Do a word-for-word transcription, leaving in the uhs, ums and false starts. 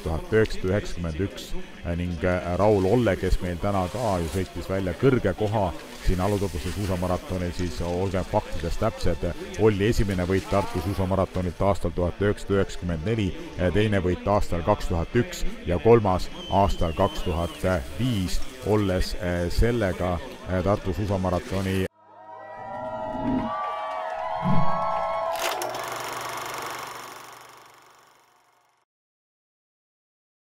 tuhat üheksasada üheksakümmend üks ning Raul Olle, kes meil täna ka ju sõitis välja kõrge koha siin Alutaguse suusamaratonil, siis olgem faktides täpsed, oli esimene võit Tartu suusamaratonilt aastal tuhat üheksasada üheksakümmend neli, teine võit aastal kaks tuhat üks ja kolmas aastal kaks tuhat viis, olles sellega Tartu suusamaratoni